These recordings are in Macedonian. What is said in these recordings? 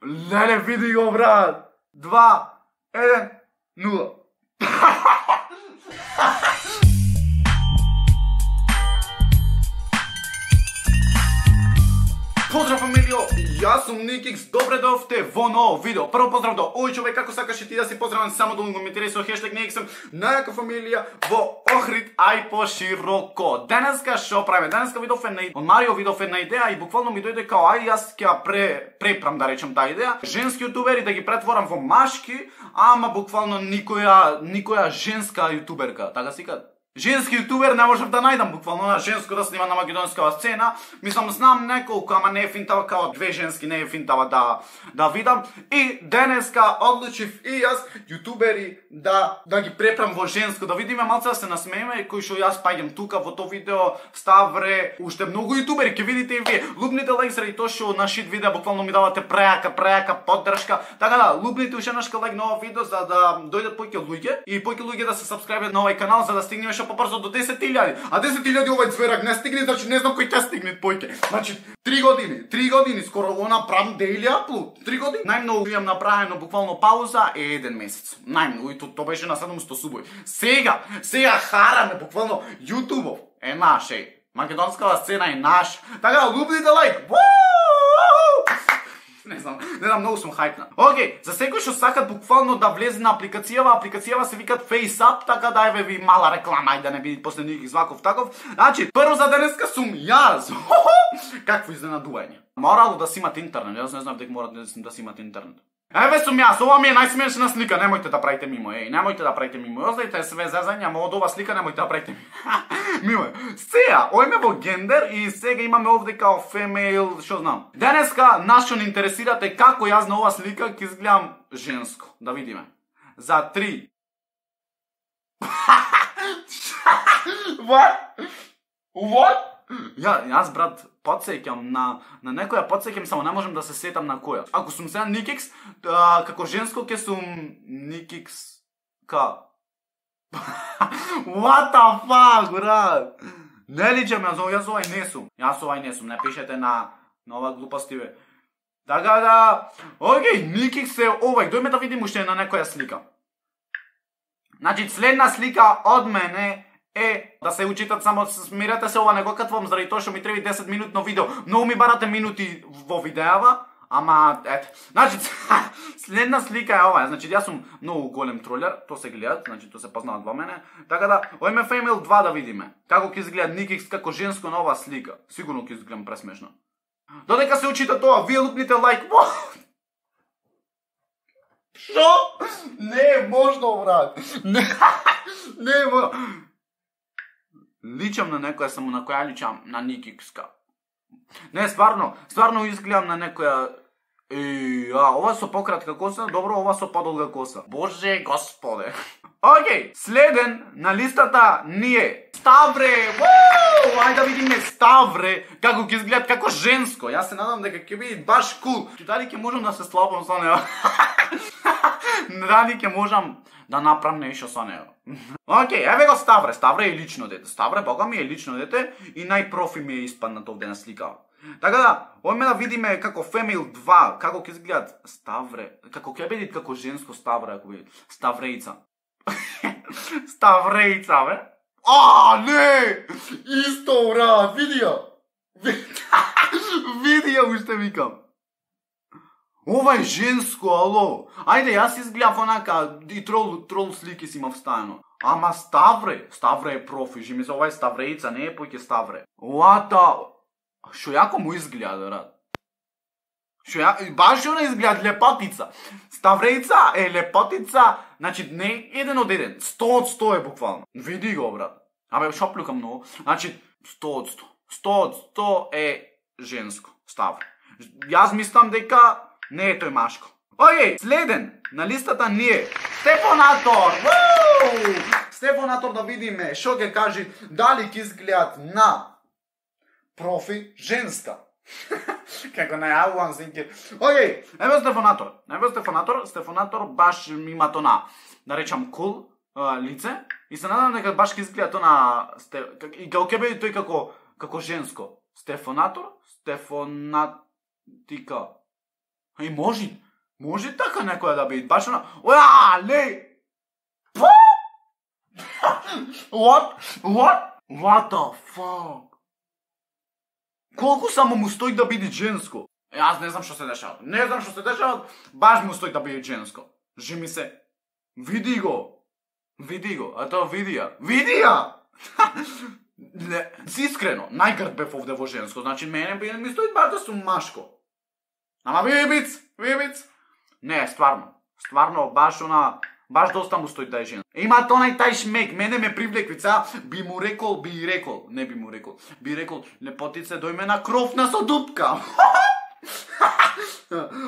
Леле, види го, брат. 2, 1, 0. Поздрав, фамилио, јас сум Никикс, добре дојдовте во ново видео. Прво поздрав до овој човек, како сакаш и ти да си поздравен, само да го коментирај со хештег Никиксом, најака фамилија во Охрид, ај пошироко. Денеска шо правиме? Денеска видов една од Марио видов една идеја и буквално ми дојде као ај јас ќе препрам да речем таа идеја. Женски јутубери да ги претворам во машки, ама буквално никоја женска јутуберка, така си кажа. Женски јутубер не можев да најдам буквално на женско да снима на македонска сцена. Мислам, знам неколку, ама не е финтава као две женски, не е финтава да видам. И денеска одлучив и јас јутубери да ги препрам во женско, да видиме малце да се насмееме, кој што јас паѓам тука во тоа видео, Ставре, уште многу јутубери ќе видите и вие. Лупните лайк заради тоа што на шит видео буквално ми давате преака поддршка. Така да, лупните уште еднашка лайк на ова видео за да дојдат поќе луѓе и поќе луѓе да се сабскрајбат на овој канал за да стигнеме побрзо до 10.000. А 10.000 овој зверак не стигне, значи не знам кој ќе стигне поќе. Значи 3 години скоро го направам daily upload. 3 години. Најмногу имам направено буквално пауза е 1 месец. Најмногу и тоа беше на 700 субови. Сега хараме буквално YouTube е наш, македонската сцена е наш. Така да лупнете лайк. Не знам, многу сум хајпна. Океј, за секој што сакат буквално да влезе на апликацијава се викат FaceApp, така да еве ви мала реклама, ајде да не биде после Никикс ваков таков. Значи, прво за денеска сум јас. Какво изненадување. Морало да си имате интернет, јас не знам дека мора да си имате интернет. Еве сум јас, ова ми е најсмешна слика, немојте да правите мимо, немојте да правите мимо. Оставите све зезање, ама од ова слика немојте да правите мимо. Сега, ојме во гендер и сега имаме овде као female, што знам. Денеска нас што не интересирате како јас на ова слика ќе изгледам женско. Да видиме. За 3. What? Јас брат подсеќам на некоја подсеќам, само не можам да се сетам на која. Ако сум сега Никикс, како женско ќе сум Никикс К. What the fuck, брат? Не личам, јас овај не сум, не пишете на ова глупости бе. Така да, океј, Никикс е овај, дојме да видим уште на некоја слика. Значи, следна слика од мене е да се учитат, само смирете се, ова не го катвам заради тоа што ми треба 10 минутно видео. Многу ми барате минути во видеава, ама ете. Значи, следна слика е ова. Значи, јас сум многу голем тролер, тоа се гледат, значи тоа се познават во мене. Така да, ојме Female 2 да видиме. Како ќе изгледа Никикс како женско на оваа слика. Сигурно ќе изгледам пресмешно. Додека се учита тоа, вие лупните лайк. Шо? Не е можно, брат. Не е можно. Личам на некоја, само на која личам на Никикска. Не, стварно изгледам на некоја. Ова со пократка коса, добро, ова со подолга коса. Боже господе. Океј, следен на листата ни е Ставре. Ајде да видиме Ставре како ќе изгледат како женско. Јас се надам дека ќе биде баш кул. Дали ќе можам да се слабам со него? Дали ќе можам да направам нешто со него? Океј, еве го Ставре. Ставре е лично дете. Ставре, бога ми е лично дете и најпрофи ми е испаднат овде на слика. Така да, ојме да видиме како Female 2, како ќе изгледат Ставре, како ќе биде како женско Ставре, ако биде Ставреица. Ставреица, бе? Не! Исто, брат, види ја. Види ја уште викам. Ова е женско, ало. Ајде, јас изгледав онака и трол слики си имав ставено. Ама Ставре е профи, жи ми за ова е Ставреица, не е поќе Ставре. Шо јако му изгледа, брат. Баш она изгледа лепатица. Ставреица е лепатица, значи не еден од еден, 100 од 100 е буквално. Види го, брат. Абе, шоплюка многу. Значи, 100 од 100. 100 од 100 е женско, Ставре. Јас мислам дека не е тој машко. Океј, следен на листата ни е Стефонатор. Стефонатор да видиме шо ќе кажи, дали ќе изгледат на профи женска. Како најавувам синке. Океј, еве Стефонатор. Стефонатор баш има тона, да речам кул лице и се надам дека баш ќе изгледа тона и како ќе биде тој како женско. Стефонатика. И може така некоја да биде, баш она, ле, what the fuck? Колку само му стои да биде женско? Јас не знам што се дешава, баш му стои да биде женско. Жими се, види го, а тоа видија! Искрено, најгрд бев овде во женско, значи мене ми стои баш да сум машко. Ама вибиц. Не, стварно, баш доста му стои да е женско. Има тонај тај шмек, мене ме привлеквица, би рекол, лепотице, дојме на кровна со дупка.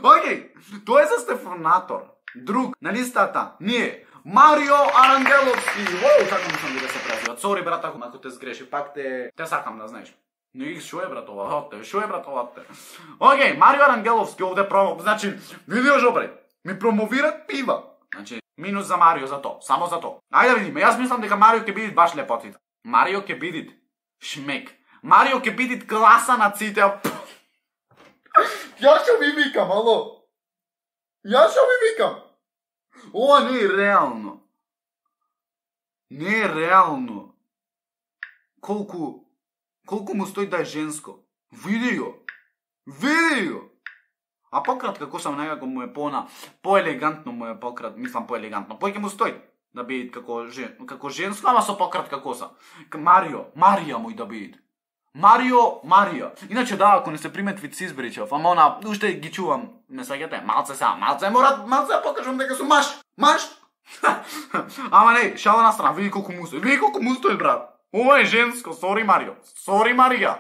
Океј, тоа е за Стефанатор. Друг, на листата, ние, Марио Арангеловски. Така мислам да се презиват. Сори, брат, ако те сгреши, пак те сакам да знаеш. Не, шо е братовате? Океј, Марио Арангеловски овде значи, видиш добре, ми промовират пива. Значи, минус за Марио за тоа, само за тоа. Ајде да видиме, јас мислам дека Марио ќе биде баш лепотит. Марио ќе биде шмек. Марио ќе биде класа на ците. Јас што ви викам, ало? Ова не е реално. Колку му стои да е женско. Види го. А пократка коса некако му е поелегантно му е мислам поелегантно. Поќе му стои да биде како женско, ама со пократка коса. Марија му и да биде. Марија. Иначе да, ако не се приметви си избричав, ама уште ги чувам, не саѓате, малце да покажам дека сум маш. Ама не, шала на страна, види колку му стои, брат. Ова е женско, сори Марија.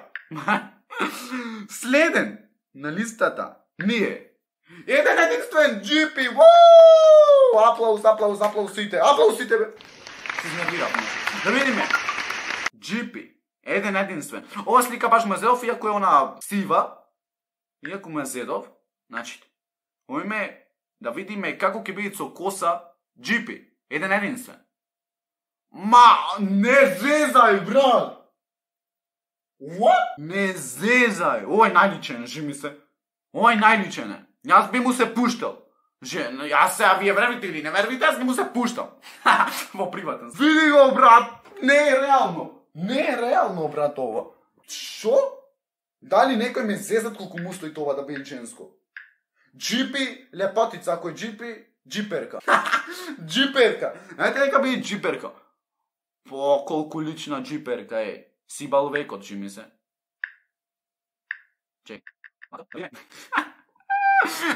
Следен на листата ние. Еден единствен GP. Аплаусите, бе. Се изнервирав. Да видиме. GP. Еден единствен. Ова слика баш ме зедов, иако е она сива. Иако ме зедов. Значи, ојме да видиме како ќе биде со коса GP. Еден единствен. Не зезај, брат! What? Не зезај! Ова е најличен, жими се. Јас би му се пуштал. Јас сега вие вервите или не вервите, јас би му се пуштал. Во приватен. Види го, брат! Не е реално, брат, ова. Шо? Дали некој ме зезат колку му стои това да биде женско? GP, лепотица, ако е GP, джиперка. Знаете нека биде джиперка. Колку лична джиперка е. Сибал векот, жими се. Чек.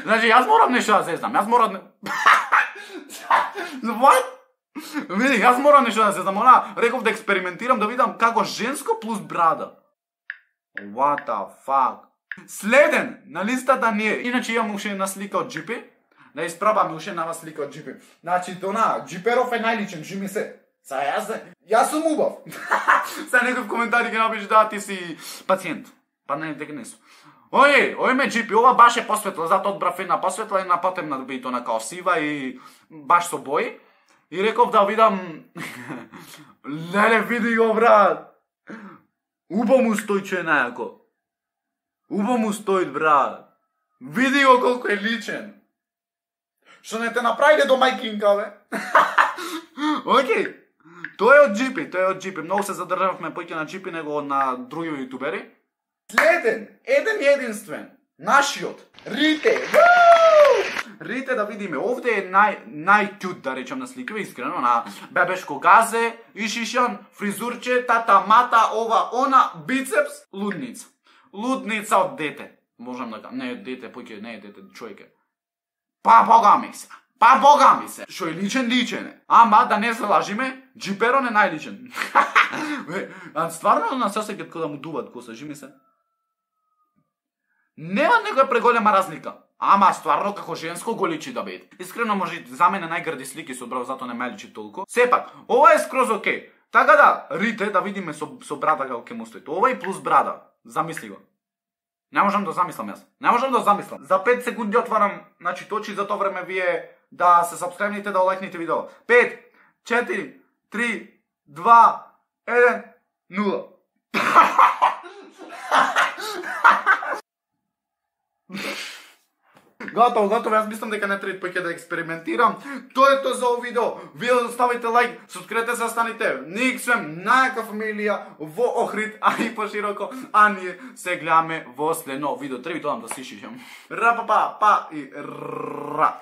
Значи, јас морам нешто да зезнам. What? Види, јас морам нешто да зезнам. Реков да експериментирам, да видам како женско плюс брада. What the fuck? Следен на листата ние. Иначе имам уште една слика од GP. Да испробаме уште една слика од GP. Значи, джиперов е најличен, жими се. Јас сум убав. Сега некој в коментари ќе напише да ти си пациент. Па не, дека не сум. Ој GP, ова баш е посветла, затоа одбрав една посветла, една потемна да биде она као сива и баш со бои. И реков да видам... Леле, види го, брат. Убо му стои, че е најако. Брат. Види го колку е личен. Што не те направиле до мајкинка, бе? Океј. Тоа е од GP, многу се задржавме поќе на GP него на други јутубери. Следен, еден единствен, нашиот, Рите. Рите да видиме, овде е најтют да речам на сликава, искрено, на бебешко газе, ишишан, фризурче, тата, мата, ова, она, бицепс, лудница. Лудница од дете. Можам да кажам, не е дете, поќе не е дете, човеке. Па бога ми се. Шо е личен е. Ама да не се лажиме, джиперон е најличен. Стварно на се секет кога да му дуват коса, жими се. Нема некоја преголема разлика. Ама стварно како женско го личи да биде. Искрено може за мене најгрди слики се одбрав, затоа не ме личи толку. Сепак, ова е скроз окей. Така да, Рите, да видиме со брада како ќе му стои. Ова и плюс брада. Замисли го. Не можам да замислам јас. За 5 секунди отварам, значи точи за тоа време вие да се сабскрајбните, да лајкните видео. 5, 4, 3, 2, 1, 0. Готово, јас мислам дека не треба поќе да експериментирам. Тоа е тоа за овој видео. Вие ставите лайк, субскрибете се, станете Никсвем, најака фамилија во Охрид, а и пошироко, а ние се гледаме во следно видео. Треба да си шишам. Ра па па па и ра.